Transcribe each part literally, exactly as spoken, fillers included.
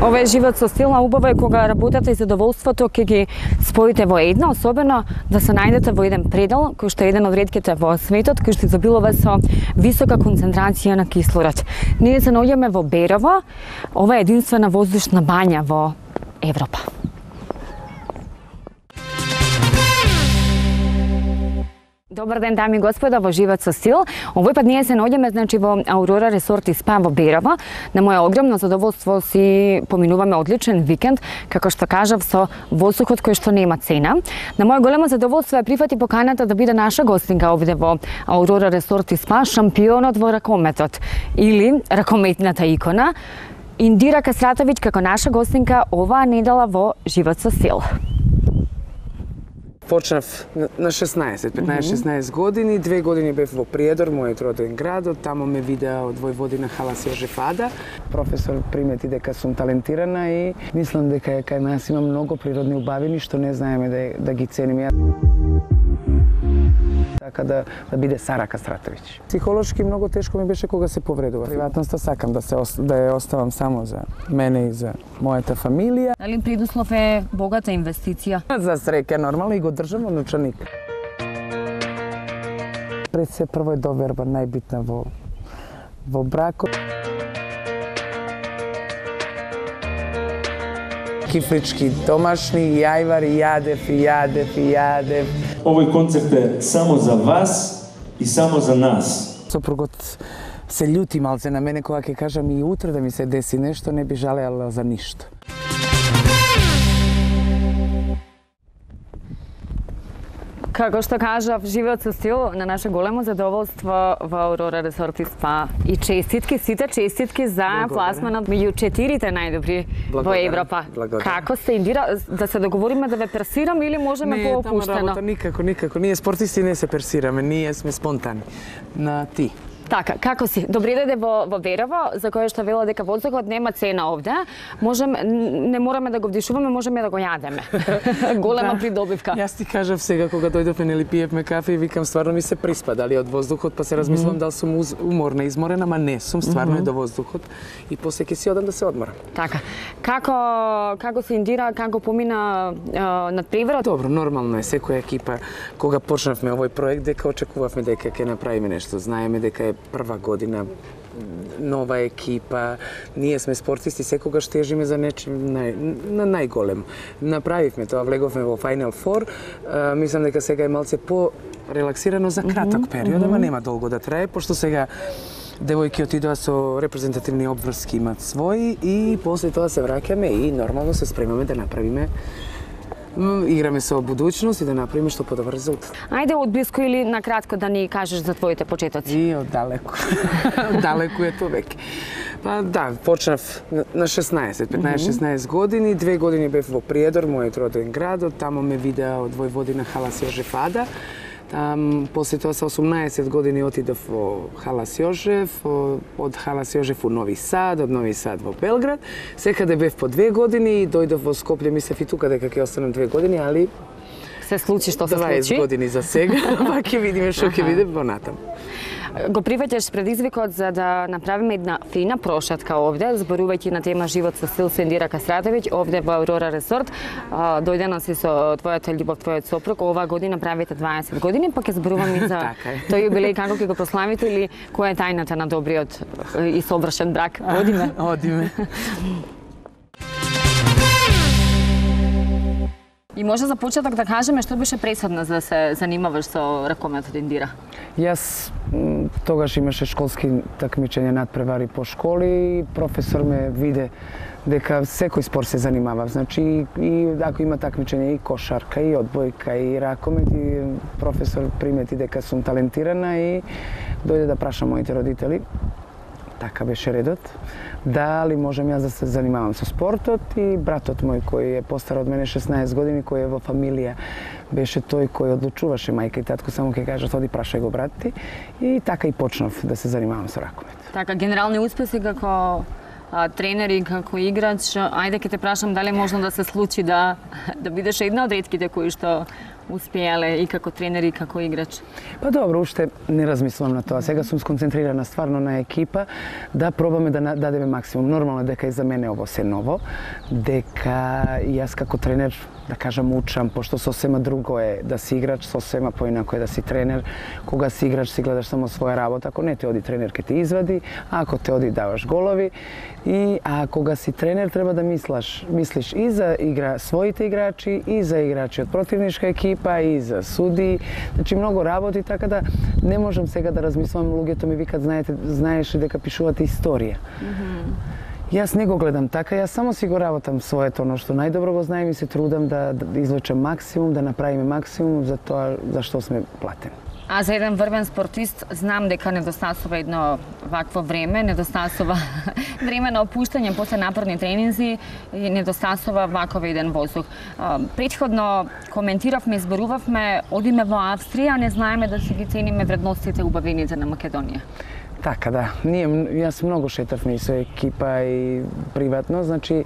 Ова е живот со стил, убаво е кога работата и задоволството ќе ги споите во едно, особено да се најдете во еден предел кој што е еден од ретките во светот, кој што изобилува со висока концентрација на кислород. Ние се наоѓаме во Берово. Ова е единствена воздушна бања во Европа. Добар ден, дами и господа, во Живот со стил. Овој пат ние се наоѓаме значи во Аурора Ресорт и Спа во Берово. На моје огромно задоволство си поминуваме одличен викенд, како што кажав, со воздухот кој што нема цена. На моје големо задоволство е прифати поканата да биде наша гостинка овде во Аурора Ресорт и Спа, шампионот во ракометот или ракометната икона Индира Кастратовиќ како наша гостинка оваа недела во Живот со стил. Почнав на шеснаесет, петнаесет-шеснаесет години, две години бев во Приедор, мојот роден град, тамо ме видеа од Војводина Халас Јожеф Ада. Професор примети дека сум талентирана и мислам дека кај нас има многу природни убавини што не знаеме да, да ги цениме. Така да, да биде Сара Кастратовиќ. Психолошки многу тешко ми беше кога се повредува. Приватноста сакам да се да ја оставам само за мене и за мојата фамилија. Дали предуслов е богата инвестиција? За среќа нормално и го држам во ночаник. Пред се прво е доверба најбитна во во бракот. Кифлички домашни, јајвари, јадев и јадев и јадев. Овој концерт е само за вас и само за нас. Сопругот се љути малце на мене кога ќе кажам и утре да ми се деси нешто, не би жалеала за ништо. Како што кажав, Живот со стил на наше големо задоволство во Аурора Ресорт и Спа. И честитки, сите честитки за пласманот меѓу четирите најдобри во Европа. Благодарам. Како сте, Индира, да се договориме да ве персирам или можеме поопуштено? Не, тама работа никако, никако. Ние спортисти не се персираме, ние сме спонтани. На ти. Така, како си? Добре дојде во, во Берово, за кое што вела дека воздухот нема цена овде. Можем, не мораме да го вдишуваме, можеме да го јадеме. Голема да, придобивка. Јас ти кажав сега кога дојдовме, нели пиевме кафе и викам стварно ми се приспа дали од воздухот, па се размислам mm -hmm. дали сум уморна, изморена, ама не сум, стварно mm -hmm. е до воздухот и после ќе си одам да се одморам. Така. Како како се Индира, како помина над преворот? Добро, нормално е секоја екипа кога почнавме овој проект дека очекувавме дека ќе направиме нешто. Знаеме дека е прва година, нова екипа, ние сме спортисти, секогаш тежиме за нечим нај, на најголем. Направивме тоа, влеговме во Final Four, а, мислам дека сега е малце по-релаксирано за краток период, ама нема долго да трае, пошто сега девојки отидоа со репрезентативни обврски, имат своји и после тоа се враќаме и нормално се спремаме да направиме играме со будуćност и да направиме што подобар резултат. Ајде од блиско или на кратко да ни кажеш за твоите почетоци. И од далеку. Далеку е тоа веќе. Па да, почнав на шеснаесет, петнаесет-шеснаесет години, две години бев во Приедор, мојот роден град, тамо ме видеа од Војводина Халас Јожеф Ада. Там, после тоа со осумнаесет години отидов во Халас Јожеф, од Халас Јожеф у Нови Сад, од Нови Сад во Белград. Секаде бев по две години и дојдов во Скопје, мислев и тука дека ќе останам две години, али се случи што се случи. дваесет години за сега, па ќе видиме што ќе биде понатаму. Го прифаќаш предизвикот за да направиме една фина прошетка овде, зборувајќи на тема Живот со стил со Индира Кастратовиќ, овде во Аурора Ресорт. Дојдена си со твојата љубов, твојот сопруг, оваа година правите дваесет години, па ќе зборуваме и за тој јубилеј, како ќе го прославите или која е тајната на добриот и совршен брак. Одиме. Одиме. И може за почеток да кажеме што беше пресадна за да се занимаваш со ракометот, Индира? Јас тогаш имаше школски такмичења надпревари по школи, професор ме виде дека секој спорт се занимава. Значи и ако има такмичење и кошарка, и одбојка, и ракомет, и професор примети дека сум талентирана и дојде да праша моите родители. Така беше редот. Дали можам јас да се занимавам со спортот и братот мој кој е постар од мене шеснаесет години, кој е во фамилија, беше тој кој одлучуваше, мајка и татко само ќе кажат оди прашај го брат ти и така и почнав да се занимавам со ракомет. Така генерални успеси како а, тренер и како играч, ајде ќе те прашам дали можно да се случи да да бидеш една од ретките кои што успеале и како тренер и како играч? Па добро, уште не размислувам на тоа. Сега сум сконцентрирана стварно на екипа да пробаме да дадеме максимум. Нормално е дека и за мене ово се ново, дека јас како тренер да кажам учам, пошто сосема друго е да си играч, сосема поинако е да си тренер. Кога си играч си гледаш само своја работа, ако не те оди тренер ке те извади, а ако те оди даваш голови. И а кога си тренер треба да мислаш, мислиш и за игра своите играчи, и за играчи од противничка екипа, и за суди. Значи многу работи, така да не можам сега да размислувам. Луѓето ми викат, знаете, знаеш дека пишувате историја. Mm-hmm. Јас не го гледам така, јас само си го работам своето, оно што најдобро го знаем и се трудам да, да извлечам максимум, да направиме максимум за тоа за што сме платени. А за еден врвен спортист знам дека недостасува едно вакво време, недостасува време на опуштање после напорни тренинзи и недостасува ваков еден воздух. Претходно коментиравме, изборувавме, одиме во Австрија, не знаеме да си ги цениме вредностите убавените на Македонија. Така да, ние, јас многу шетавме и со екипа и приватно, значи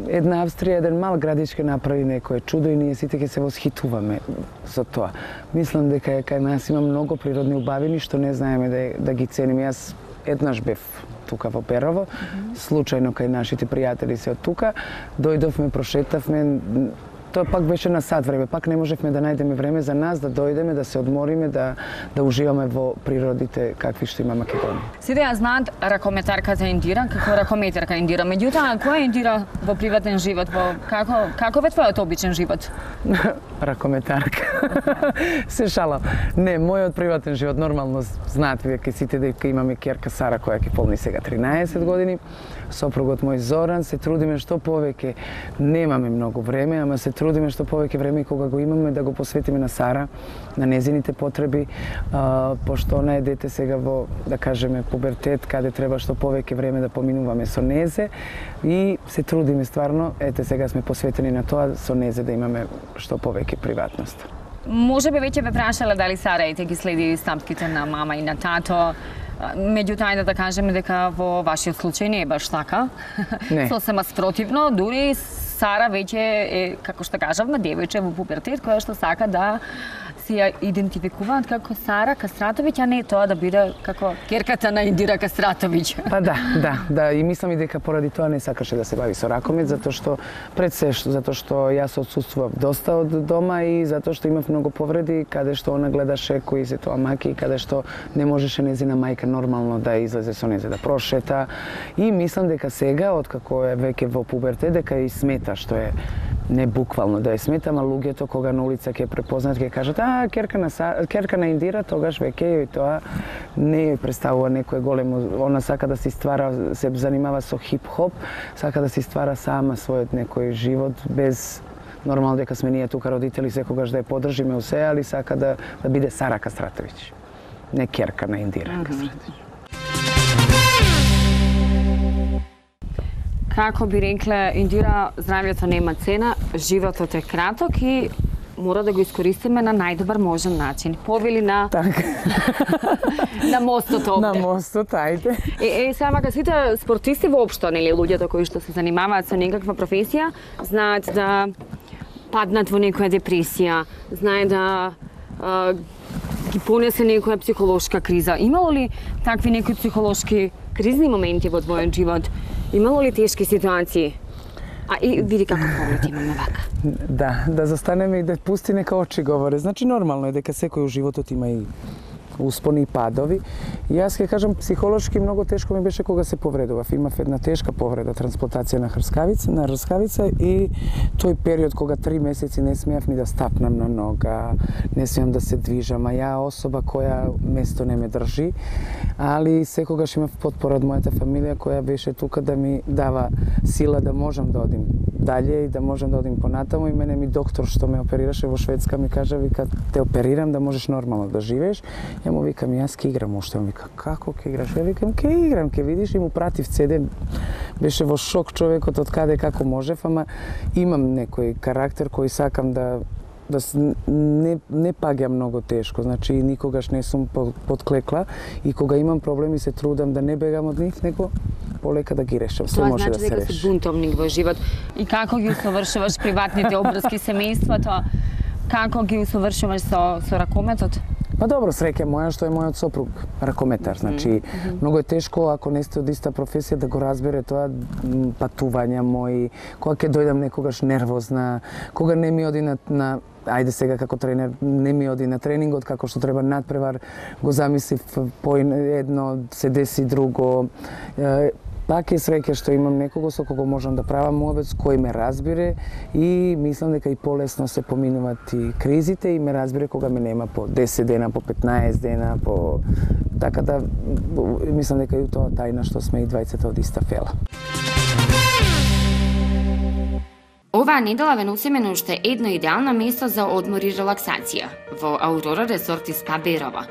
една Австрија, еден мал градички направи некое чудо и ние сите ќе се восхитуваме за тоа. Мислам дека кај нас има многу природни убавини што не знаеме да, да ги цениме. Јас еднаш бев тука во Перово, mm-hmm. случајно кај нашите пријатели се од тука, дојдовме, прошетавме. Тоа пак беше на сат време, пак не можевме да најдеме време за нас, да дојдеме, да се одмориме, да, да уживаме во природите какви што има Македонија. Сите ја знаат ракометарка за Индира, како ракометарка Индира. Меѓутоа, која е Индира во приватен живот? Во како каков е твојот обичен живот? Ракометарка. Се шалам. Не, мојот приватен живот нормално знаат веќе сите дека имаме ќерка Сара која ќе полни сега тринаесет години. Сопругот мој Зоран, се трудиме што повеќе. Немаме многу време, ама се трудиме што повеќе време и кога го имаме да го посветиме на Сара, на незините потреби, а, пошто она е дете сега во, да кажеме, пубертет, каде треба што повеќе време да поминуваме со незе и се трудиме стварно, ете сега сме посветени на тоа со незе да имаме што повеќе приватност. Може би веќе ве прашале дали Сара ете ги следи стапките на мама и на тато. Меѓутоа, да кажеме дека во вашиот случај не е баш така. Не. Сосема спротивно, дури Сара веќе е, како што кажавме, девојче во пубертет, која што сака да се ја идентификуваат како Сара Кастратовиќ, а не тоа да биде како ќерката на Индира Кастратовиќ. Па да, да, да, и мислам и дека поради тоа не сакаше да се бави со ракомет, затоа што пред се, затоа што јас отсуствував доста од дома и затоа што имав многу повреди, каде што она гледаше кои се тоа маки, каде што не можеше незина мајка нормално да излезе со незе да прошета. И мислам дека сега, откако е веќе во пубертет, дека и смета што е не буквално да ја сметам, а луѓето кога на улица ќе препознаат, ќе кажат, а, ќерка на, ќерка на Индира, тогаш веќе и тоа не ја представува некој големо, она сака да си ствара, се занимава со хип-хоп, сака да си ствара сама својот некој живот, без нормално дека сме ние тука родители, секогаш да ја поддржиме усе, али сака да, да биде Сара Кастратовиќ, не ќерка на Индира mm-hmm. Кастратовиќ. Како би рекле, Индира, здравјето нема цена, животот е краток и мора да го искористиме на најдобар можен начин. Повели на така. на мостот овде. На мостот, ајде. Е, е сега сите спортисти воопшто, нели, луѓето кои што се занимаваат со некаква професија, знаат да паднат во некоја депресија, знаат да а, ги понесе некоја психолошка криза. Имало ли такви некои психолошки кризни моменти во твојот живот? Имало ли тешки ситуации? А и види како поглед имаме вака. Да, да застанеме и да пусти нека очи говори. Значи нормално е дека секој у животот има и успони и падови. И јас ќе кажам, психолошки многу тешко ми беше кога се повредував. Имав една тешка повреда, трансплантација на хрскавица, на рскавица и тој период кога три месеци не смеав ни да стапнам на нога, не смеам да се движам, а ја особа која место не ме држи, али секогаш имав потпора од мојата фамилија која беше тука да ми дава сила да можам да одим дале и да можам да одим понатаму. И мене ми доктор што ме оперираше во Шведска ми кажа, вика, те оперирам да можеш нормално да живееш. Ја му викам, јас ке играм уште. Му вика, како ке играш? Ја викам, ке играм, ке видиш. И му пратив цеден. Беше во шок човекот од каде како можев, ама имам некој карактер кој сакам да да не не паѓам многу тешко. Значи никогаш не сум подклекла и кога имам проблеми се трудам да не бегам од нив, него полека да ги решам. Се може да се реши. Тоа значи дека си бунтовник во живот. И како ги усовршуваш приватните обврски, семејството? Како ги усовршуваш со, со ракометот? Па добро, среќа моја што е мојот сопруг ракометар. Значи, mm -hmm. многу е тешко ако не сте од иста професија да го разбере тоа патувања мои, кога ќе дојдам некогаш нервозна, кога не ми оди на, на ајде сега како тренер, не ми оди на тренингот, како што треба надпревар, го замислив по едно, се деси друго. Пак е среќа што имам некого со кого можам да правам муабет, кој ме разбере и мислам дека и полесно се поминуваат и кризите и ме разбере кога ме нема по десет дена, по петнаесет дена, по така да мислам дека и тоа тајна што сме и двајцата од иста фела. Оваа недела ве носиме на уште едно идеално место за одмор и релаксација во Аурора Ресорт и Спа Берова.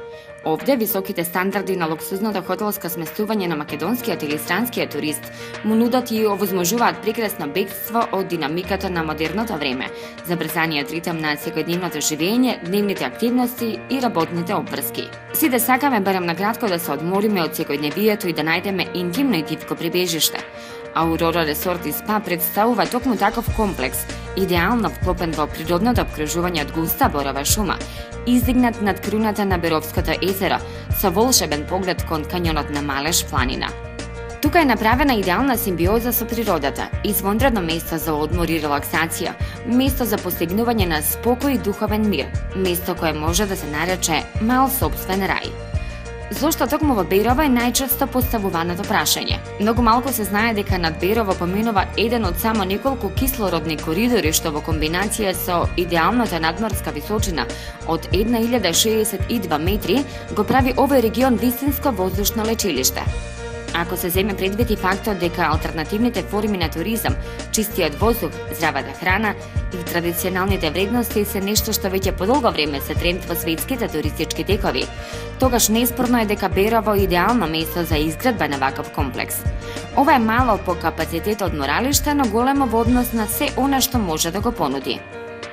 Овде високите стандарди на луксузното хотелско сместување на македонскиот или странскиот турист му нудат и овозможуваат прекрасно бегство од динамиката на модерното време, забрзаниот ритм на секојдневното живење, дневните активности и работните обврски. Сите сакаме барем накратко да се одмориме од секојдневието и да најдеме интимно и тивко прибежиште. Аурора Ресорт и Спа представува токму таков комплекс, идеално вклопен во природното обкружување од густа борова шума, издигнат над круната на Беровското езеро, со волшебен поглед кон кањонот на Малеш планина. Тука е направена идеална симбиоза со природата, извонредно место за одмор и релаксација, место за постигнување на спокој и духовен мир, место кое може да се нарече мал собствен рај. Зошто токму во Берово е најчесто поставуваното прашање? Многу малку се знае дека над Берово поминува еден од само неколку кислородни коридори што во комбинација со идеалната надморска височина од една илјада шеесет и два метри го прави овој регион вистинско воздушно лечилиште. Ако се земе предвид и фактот дека алтернативните форми на туризам, чистиот воздух, здравата храна и традиционалните вредности се нешто што веќе подолго време се тренд во светските туристички текови, тогаш неспорно е дека Берово е идеално место за изградба на ваков комплекс. Ова е мало по капацитет одморалиште, но големо во однос на се она што може да го понуди.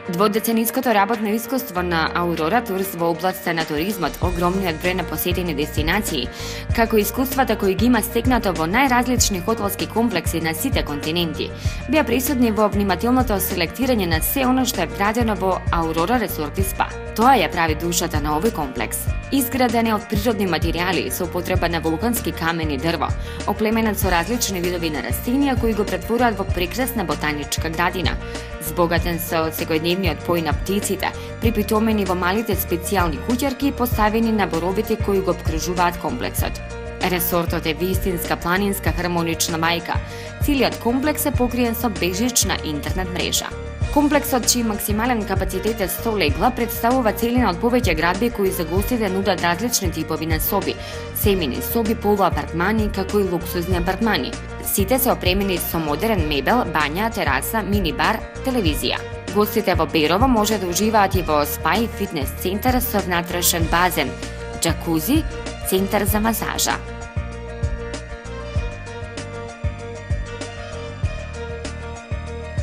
Дводецениското работно искуство на Аурора Турс во областта на туризмот, огромниот број на посетени дестинации, како искуствата кои ги има стекнато во најразлични хотелски комплекси на сите континенти, беа присутни во внимателното селектирање на се оно што е вградено во Аурора Ресорт и Спа. Тоа ја прави душата на овој комплекс. Изграден е од природни материјали со употреба на вулкански камен и дрво, оплеменет со различни видови на растенија кои го претворуваат во прекрасна ботаничка градина, збогатен со секојдневниот пој на птиците, припитомени во малите специјални куќарки поставени на боровите кои го обкружуваат комплексот. Ресортот е вистинска планинска хармонична мајка. Целиот комплекс е покриен со бежична интернет мрежа. Комплексот, чиј максимален капацитет е сто легла, представува целина од повеќе градби кои за гостите нудат различни типови на соби, семени соби, полуапартмани, како и луксузни апартмани. Сите се опремени со модерен мебел, бања, тераса, мини-бар, телевизија. Гостите во Берово може да уживаат и во спа и фитнес центар со внатрешен базен, џакузи, центар за масажа.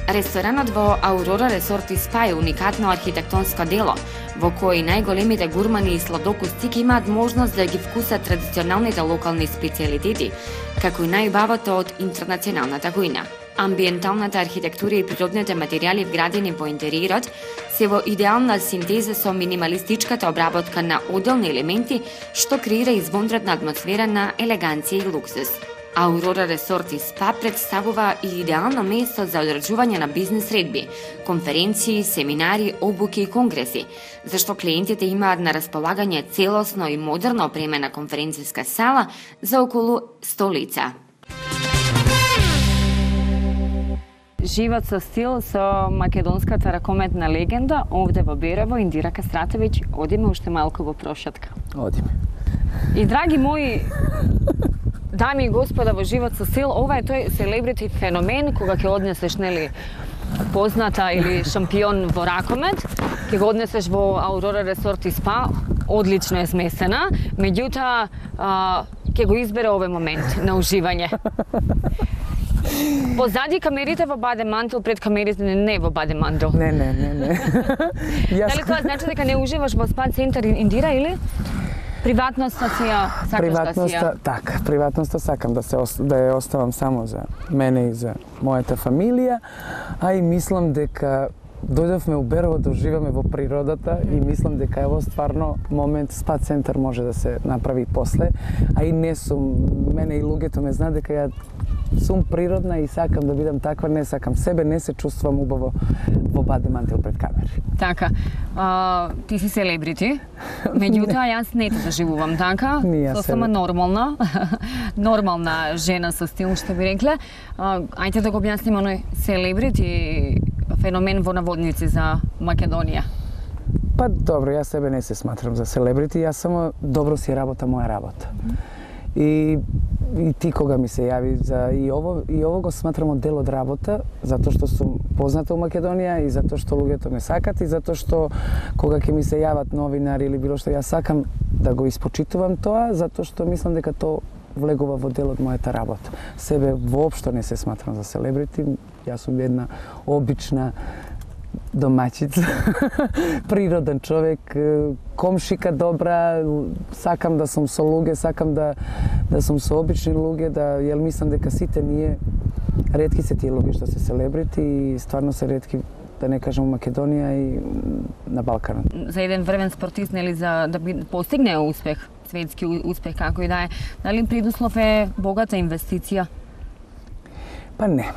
Ресторанот во Аурора Ресорт и Спа е уникатно архитектонско дело, во кој најголемите гурмани и сладокусци имаат можност да ги вкусат традиционалните локални специјалитети, како и најубавото од интернационалната кујна. Амбиенталната архитектура и природните материјали вградени во интериерот се во идеална синтеза со минималистичката обработка на одделни елементи, што креира извонредна атмосфера на елеганција и луксус. Аурора Ресорт и Спа представува и идеално место за одржување на бизнес редби, конференции, семинари, обуки и конгреси, зашто клиентите имаат на располагање целосно и модерно опремена конференцијска сала за околу сто лица. Живот со стил со македонската ракометна легенда овде во Берово, Индира Кастратовиќ. Одиме уште малку во прошатка. Одиме. И драги мои дами и господа во Живот со стил, ова е тој селебрити феномен кога ќе однесеш, нели, позната или шампион во ракомет, ќе го однесеш во Аурора Ресорт и Спа, одлично е смесена, меѓутоа ќе го избере овој момент на уживање. Позади камерите во Бадемантел, пред камерите не во Бадемантел. Не, не, не, не. Дали тоа значи дека не уживаш во спа центар Индира или приватноста си ја сакаш приватноста, да си ја? така, приватноста сакам да се да ја оставам само за мене и за мојата фамилија, а и мислам дека дојдовме у Берово да уживаме во природата и мислам дека ево стварно момент спа центар може да се направи после, а и не сум, мене и луѓето ме знаат дека ја сум природна и сакам да бидам таква, не сакам себе, не се чувствам убаво во бади мантил пред камери. Така, а, ти си селебрити, меѓутоа јас не те доживувам така, со сама нормална, нормална жена со стил, што би рекле. А, ајде да го објасним оној селебрити феномен во наводници за Македонија. Па добро, јас себе не се сматрам за селебрити, јас само добро си работа моја работа. И, и ти кога ми се јави за и ово и ово го сметрам од дел од работа, затоа што сум позната у Македонија и затоа што луѓето ме сакат и затоа што кога ќе ми се јават новинари или било што, јас сакам да го испочитувам тоа, затоа што мислам дека тоа влегува во дел од мојата работа. Себе воопшто не се сматрам за селебрити, јас сум една обична домаќица, природен човек, комшика добра, сакам да сум со луѓе, сакам да да сум со обични луѓе, да јел мислам дека сите ние ретки се тие луѓе што се селебрити и стварно се ретки, да не кажам, у Македонија и на Балканот. За еден врвен спортист, нели, за да би постигне успех, светски успех како и да е, дали предуслов е богата инвестиција? Па не.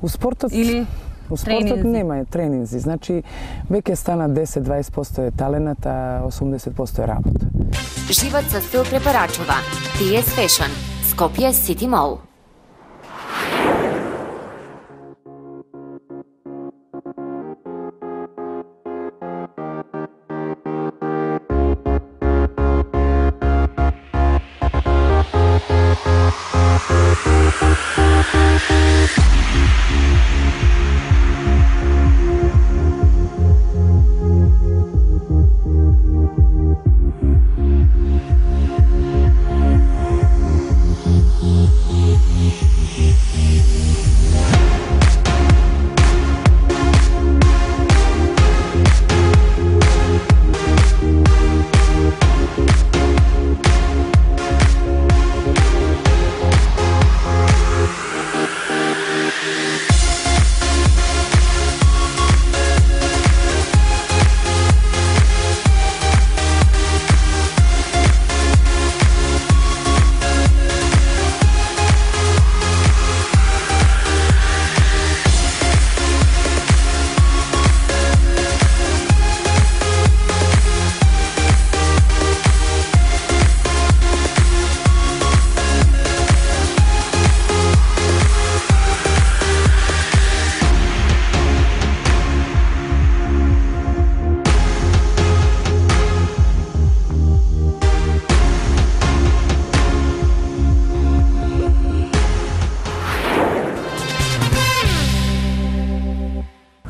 У спортот или У спортот нема тренинзи, значи веќе стана десет до дваесет проценти е таленат, а осумдесет проценти е работа. Живот со стил препорачува Ти Ес Fashion, Скопје Сити Мол.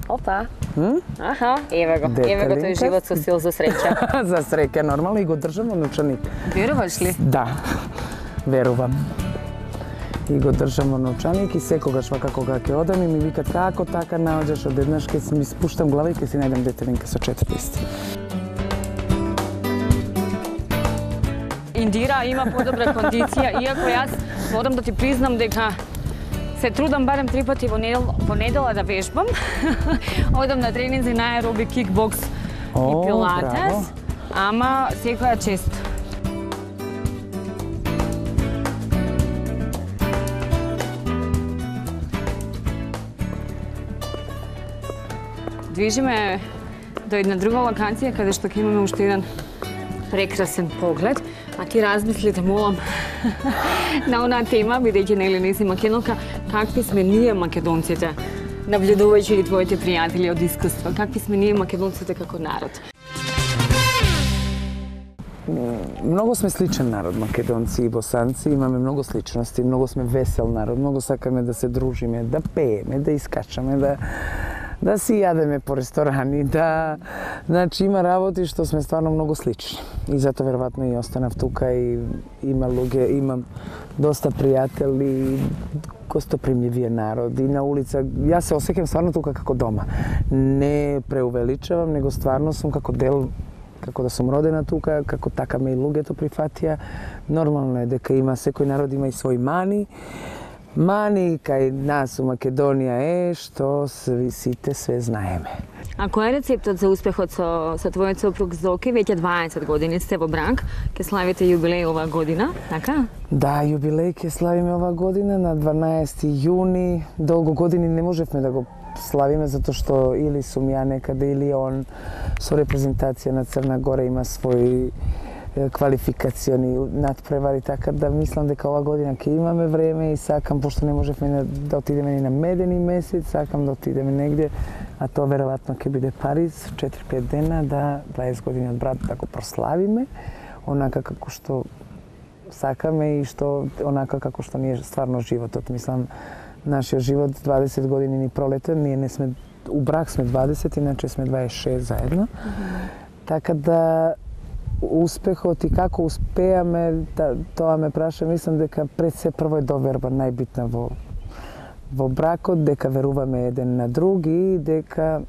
Опа. Аха, еве го. Еве го тој живот со стил, за среќа. За среќа, нормално, и го држам во новчаник. Веруваш ли? Да, верувам. И го држам во новчаник и секогаш вака кога ќе одам и ми викат како така наоѓаш, одеднаш ќе ми спуштам глава и ќе си најдам детелинка со четири листи. Индира има подобра кондиција, иако јас морам да ти признам дека се трудам барем три пати во недела, во недела да вежбам. Одам на тренинзи на аеробик, кикбокс и пилатес, ама секоја чест. Движиме до една друга локација каде што ќе имаме уште еден прекрасен поглед, а ти размисли, те молам, на онаа тема, бидејќи нели не си македонка, какви сме ние македонците, наблюдувајќи ги твоите пријатели од искуство, какви сме ние македонците како народ? Многу сме сличен народ, македонци и босанци, имаме многу сличности, многу сме весел народ, многу сакаме да се дружиме, да пееме, да искачаме, да да си јадеме по ресторани, да... Значи, има работи што сме стварно многу слични. И затоа веројатно и останав тука и има луѓе, имам доста пријатели, гостопримљивиот народ и на улица. Јас се осеќам стварно тука како дома. Не преувеличавам, него стварно сум како дел, како да сум родена тука, како така ме и луѓето прифатија. Нормално е дека има, секој народ има и свој мани. Мани кај нас у Македонија е што сви сите све знаеме. А кој е рецептот за успехот со, со твојот сопруг Зоки? Веќе дваесет години сте во брак, ке славите јубилеј оваа година, така? Да, јубилеј ќе славиме оваа година на дванаесети јуни. Долго години не можевме да го славиме затоа што или сум ја некаде или он со репрезентација на Црна Гора има своји квалификациони надпревари, така да мислам дека ова година ќе имаме време и сакам, пошто не можевме да отидеме ни на медени месец, сакам да отидеме негде, а тоа веројатно ќе биде Париз, четири-пет дена, да дваесет години од брат да го прославиме, онака како што сакаме и што онака како што ни е стварно животот. Мислам, нашиот живот дваесет години ни пролета, ние не сме, у брак сме дваесет, иначе сме дваесет и шест заедно. Mm-hmm. Така да успехот и како успеаме, да, тоа ме праша, мислам дека пред се прво е доверба најбитна во во бракот, дека веруваме еден на друг и дека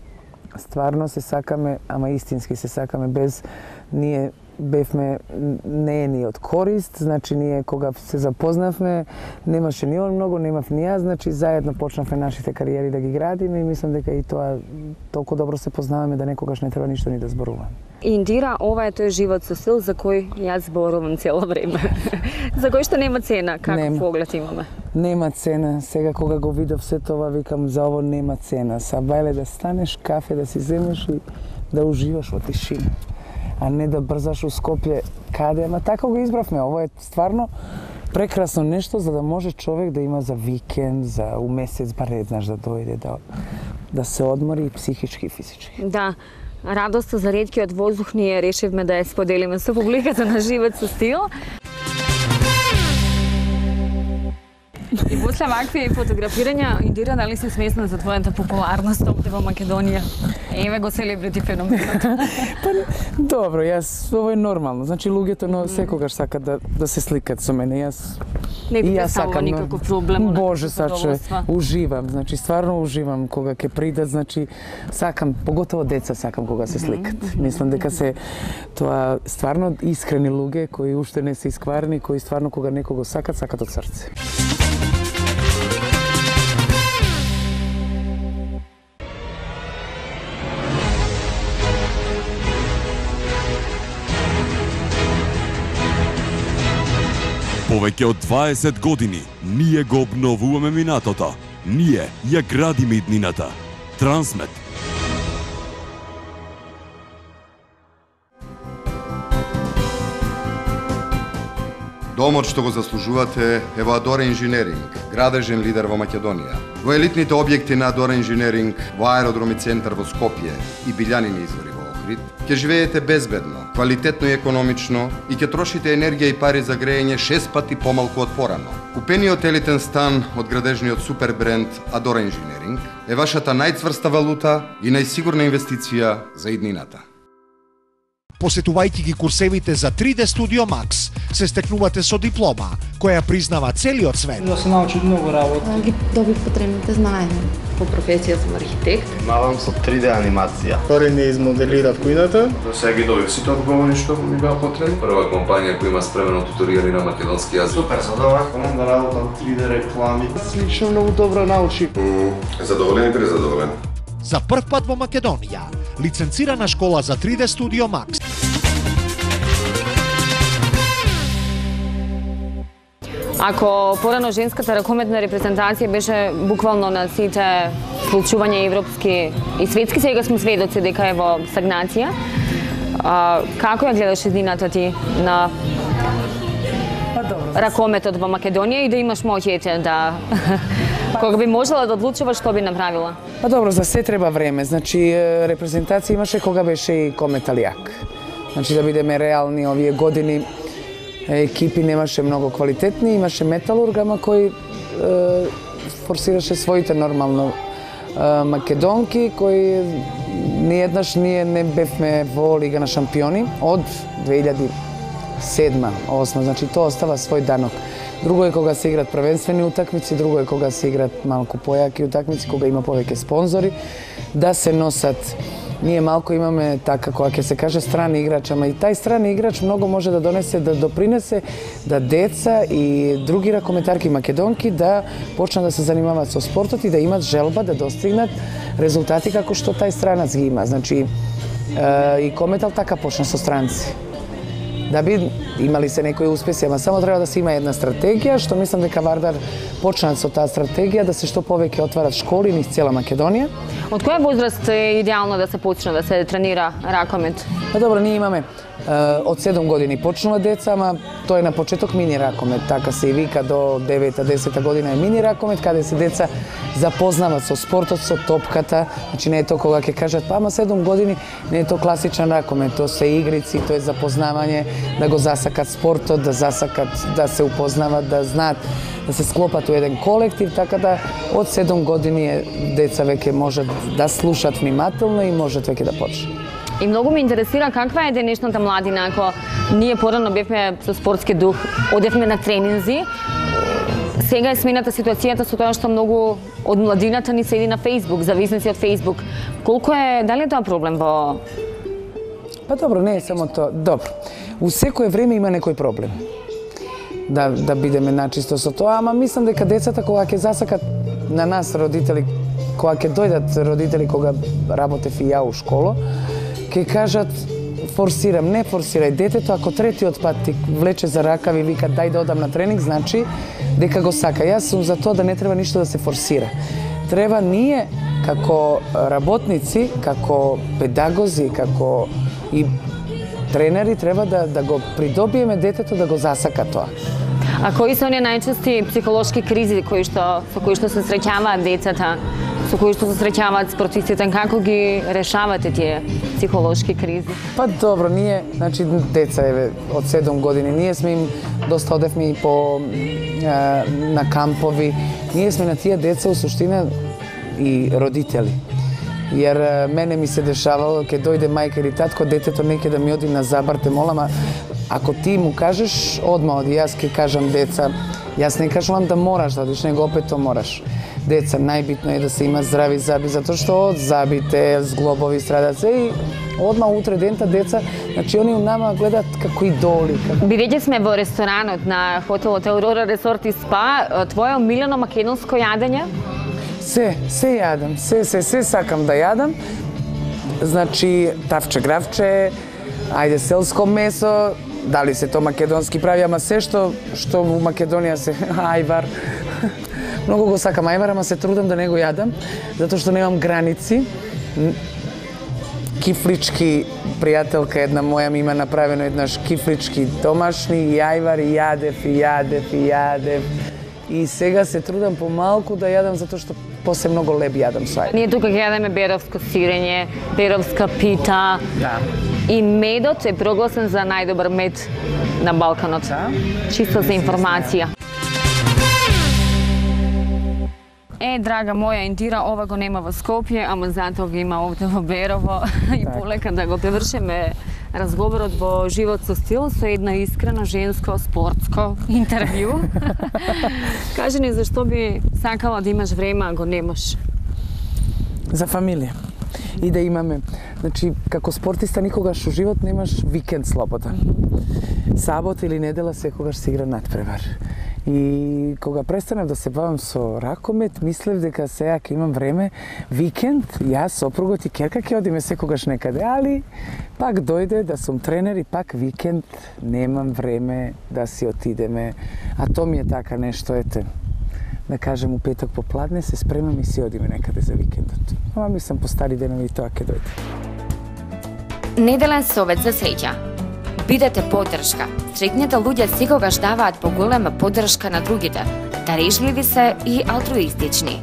стварно се сакаме, ама истински се сакаме, без ние бевме неени од корист, значи ние кога се запознавме, немаше ни он многу, немав ни јас, значи заедно почнавме нашите кариери да ги градиме и мислам дека и тоа толку добро се познаваме да некогаш не треба ништо ни да зборуваме. Индира, ова е тој живот со стил за кој јас зборувам цело време. За кој што нема цена, како нема. Поглед имаме. Нема цена. Сега кога го видов се тоа, викам за ово нема цена. Сабајле да станеш, кафе да си земеш и да уживаш во тишина. А не да брзаш у Скопје каде, ама така го избравме. Ово е стварно прекрасно нешто за да може човек да има за викенд, за у месец бар еднаш да дојде да да се одмори и психички и физички. Да. Радоста за реткиот воздух ние решивме да ја споделиме со публиката на Живот со стил. И после вакви фотографирања, Индира, дали си свесна за твојата популарност овде во Македонија? Еве го селебрити феноменот. Па, добро, јас ово е нормално. Значи луѓето но секогаш сакат да да се сликат со мене. Јас не би представува никаков проблем. Боже, саче, уживам. Значи стварно уживам кога ќе придат, значи сакам, поготово деца сакам кога се сликат. Mm -hmm. Мислам дека се тоа стварно искрени луѓе кои уште не се искварени, кои стварно кога некого сакат, сакат од срце. Повеќе од дваесет години ние го обновуваме минатото. Ние ја градиме иднината. Трансмет. Домот што го заслужувате е во Адора Инженеринг, градежен лидер во Македонија. Во елитните објекти на Адора Инженеринг, во аеродром и центар во Скопје и Билјанини извори во Охрид, ќе живеете безбедно, квалитетно и економично и ќе трошите енергија и пари за грејење шест пати помалку од порано. Купениот елитен стан од градежниот супер бренд Адора Инженеринг е вашата најцврста валута и најсигурна инвестиција за иднината. Посетувајќи ги курсевите за три де Studio Max, се стекнувате со диплома, која признава целиот свет. Да се научи многу работи. Ги добив потребните знаења. По професија сум архитект. Мавам со три де анимација. Втори не измоделирав кујната. До сега ги добив сите одговори што ми беа потребни. Прва компанија која има спремено туторирање на македонски јазик. Супер, задоволен да работам три де реклами. Лично многу добро научи. Задоволен и презадоволен. За прв пат во Македонија, лиценцирана школа за три де Studio Max. Ако порано женската ракометна репрезентација беше буквално на сите случувања европски и светски, сега сме сведоци дека е во стагнација. А, како ја гледаш иднината ти на ракометот во Македонија и да имаш моќите да кога би можела да одлучуваш, што би направила? Па добро, за се треба време. Значи репрезентација имаше кога беше и Кометалијак. Значи да бидеме реални, овие години екипи немаше многу квалитетни, имаше Металург, ама кој е, форсираше своите нормално е, македонки, кои ниеднаш ние не бевме во Лига на шампиони од две илјади и седма осма, значи тоа остава свој данок. Друго е кога се играт првенствени утакмици, друго е кога се играт малку појаки утакмици, кога има повеќе спонзори, да се носат ние малку имаме така кога ќе се каже страни играч, ама и тај страни играч многу може да донесе, да допринесе да деца и други ракометарки македонки да почнат да се занимаваат со спортот и да имат желба да достигнат резултати како што тај странац ги има. Значи и Кометал така почна со странци. Да би имали се некои успеси, ама само треба да се има една стратегија, што мислам дека Вардар почнат со таа стратегија, да се што повеќе отварат школи низ цела Македонија. Од која возраст е идеално да се почне да се тренира ракомет? Па добро, ние имаме од седум години почнува деца, ама тоа е на почеток мини ракомет, така се и вика, до девета-десета година е мини ракомет, каде се деца запознават со спортот, со топката, значи не е тоа кога ќе кажат, па ама седум години, не е тоа класичен ракомет, тоа се игрици, тоа е запознавање, да го засакат спортот, да засакат, да се упознават, да знаат, да се склопат у еден колектив, така да од седум години деца веќе можат да слушат внимателно и можат веќе да почнат. И многу ме интересира каква е денешната младина, ако ние порано бевме со спортски дух, одевме на тренинзи, сега е смената ситуацијата со тоа што многу од младината ни седи на Facebook, зависници од Facebook. Колку е, дали е тоа проблем во... Па добро, не е само тоа. Добро. У секое време има некој проблем. Да, да бидеме начисто со тоа, ама мислам дека децата кога ќе засакат на нас родители, кога ќе дојдат родители кога работев и ја у школа, ќе кажат форсирам, не форсирај детето, ако третиот пат ти влече за ракави и вика дај да одам на тренинг, значи дека го сака. Јас сум за тоа да не треба ништо да се форсира. Треба ние како работници, како педагози, како и тренери треба да да го придобиеме детето да го засака тоа. А кои се оние најчести психолошки кризи кои што со кои што се среќаваат децата, со кои што се среќаваат спортистите, како ги решавате тие психолошки кризи? Па добро, ние, значи деца еве од седум години, ние сме им доста одевме и по е, на кампови. Ние сме на тие деца у суштина и родители. Јер мене ми се дешавало, ќе дојде мајка или татко, детето не ќе да ми оди на забар, те молам, а ако ти му кажеш, одма оди, јас ќе кажам деца, јас не кажувам да мораш да одиш, него опет то мораш. Деца, најбитно е да се има здрави заби, затоа што од забите, зглобови страдат се и одма утре дента деца, значи они у нама гледат како идоли. Како... Бидејќи сме во ресторанот на хотелот Аурора Ресорт и Спа, твое омилено македонско јадење? Се, се јадам, се, се, се сакам да јадам. Значи, тавче, гравче, ајде селско месо, дали се то македонски прави, ама се што што во Македонија се ајвар. Многу го сакам ајвар, ама се трудам да не го јадам, затоа што немам граници. Кифлички, пријателка една моја ми има направено еднаш кифлички домашни, и ајвар, и јадев, и јадев, и јадев. И сега се трудам помалку да јадам, затоа што после многу леб јадам со ајвар. Ние тука ќе јадеме беровско сирење, беровска пита. Да. И медот е прогласен за најдобар мед на Балканот. Да. Чисто за информација. Е, драга моја Индира, ова го нема во Скопје, ама затоа го има овде во Берово. И полека да го превршиме разговорот во живот со стил со една искрено женско спортско интервју. Кажи ни зашто би сакала да имаш време, а го немаш? За фамилија. И да имаме, значи, како спортиста никогаш у живот немаш викенд слободен. Сабот или недела секогаш се игра надпревар. И кога престанав да се бавам со ракомет, мислев дека сега ќе имам време, викенд, јас, сопругот и керка ќе одиме секогаш некаде, али пак дојде да сум тренер и пак викенд немам време да си отидеме. А то ми е така нешто, ете, да кажем у петок попладне се спремам и си одиме некаде за викендот. Ама мислам по стари денови тоа ќе дојде. Неделен совет за среќа. Бидете поддршка. Среќните луѓе секогаш даваат поголема поддршка на другите, дарежливи се и алтруистични.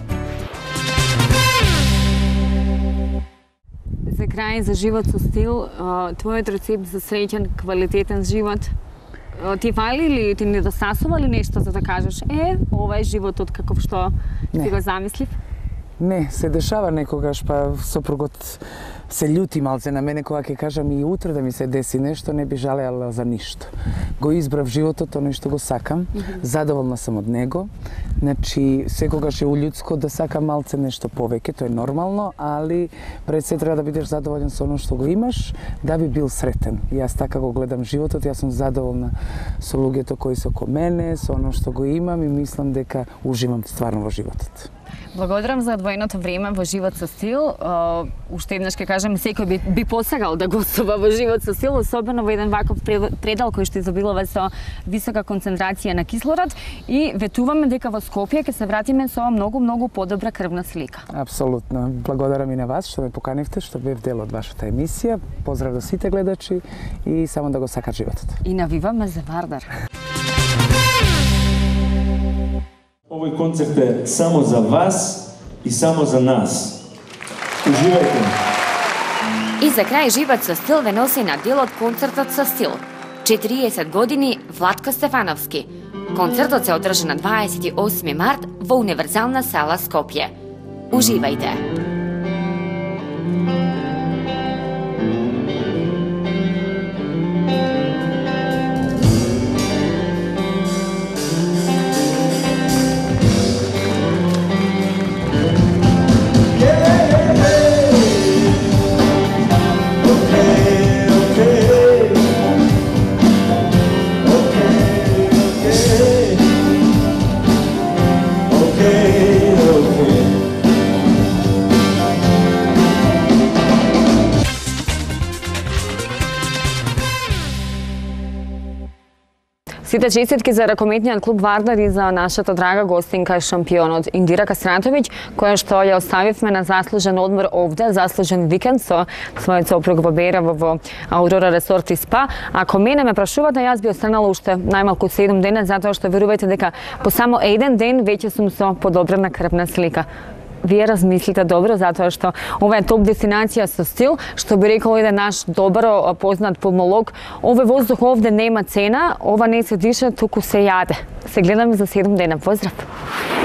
За крај, за живот со стил, твојот рецепт за среќен, квалитетен живот, ти фали или ти недостасува ли нешто за да кажеш, е, ова е животот каков што си го замислив? Не, се дешава некогаш, па сопругот се љути малце на мене кога ќе кажам и утре да ми се деси нешто, не би жалеала за ништо. Го избрав животот, оној што го сакам, задоволна сум од него. Значи, секогаш е уљудско да сакам малце нешто повеќе, тоа е нормално, али пред се треба да бидеш задоволен со оно што го имаш, да би бил сретен. Јас така го гледам животот, јас сум задоволна со луѓето кои се ко мене, со оно што го имам и мислам дека уживам стварно во животот. Благодарам за одвоеното време во Живот со стил. Uh, уште еднаш ќе кажам, секој би, би посагал да гостува во Живот со стил, особено во еден ваков предел кој што изобилува со висока концентрација на кислород и ветуваме дека во Скопје ќе се вратиме со многу многу подобра крвна слика. Апсолутно. Благодарам и на вас што ме поканивте, што бев дел од вашата емисија. Поздрав до сите гледачи и само да го сакат животот. И навиваме за Вардар. Овој концерт е само за вас и само за нас. Уживајте! И за крај Живот со стил ве носи на делот концертот со стил. четириесет години Владко Стефановски. Концертот се одржа на дваесет и осми март во Универзална сала Скопје. Уживајте! Сите честитки за ракометниот клуб Вардар и за нашата драга гостинка шампионот Индира Кастратовиќ, која што ја оставивме на заслужен одмор овде, заслужен викенд со својот сопруг во Берево во Аурора Ресорт и Спа. Ако мене ме прашувате, јас би останала уште најмалку седум дена, затоа што верувајте дека по само еден ден веќе сум со подобрена крвна слика. Вие размислите добро, затоа што ова е топ дестинација со стил, што би рекол еден наш добро познат пулмолог. Овој воздух овде нема цена, ова не се диша, туку се јаде. Се гледаме за седум дена. Поздрав!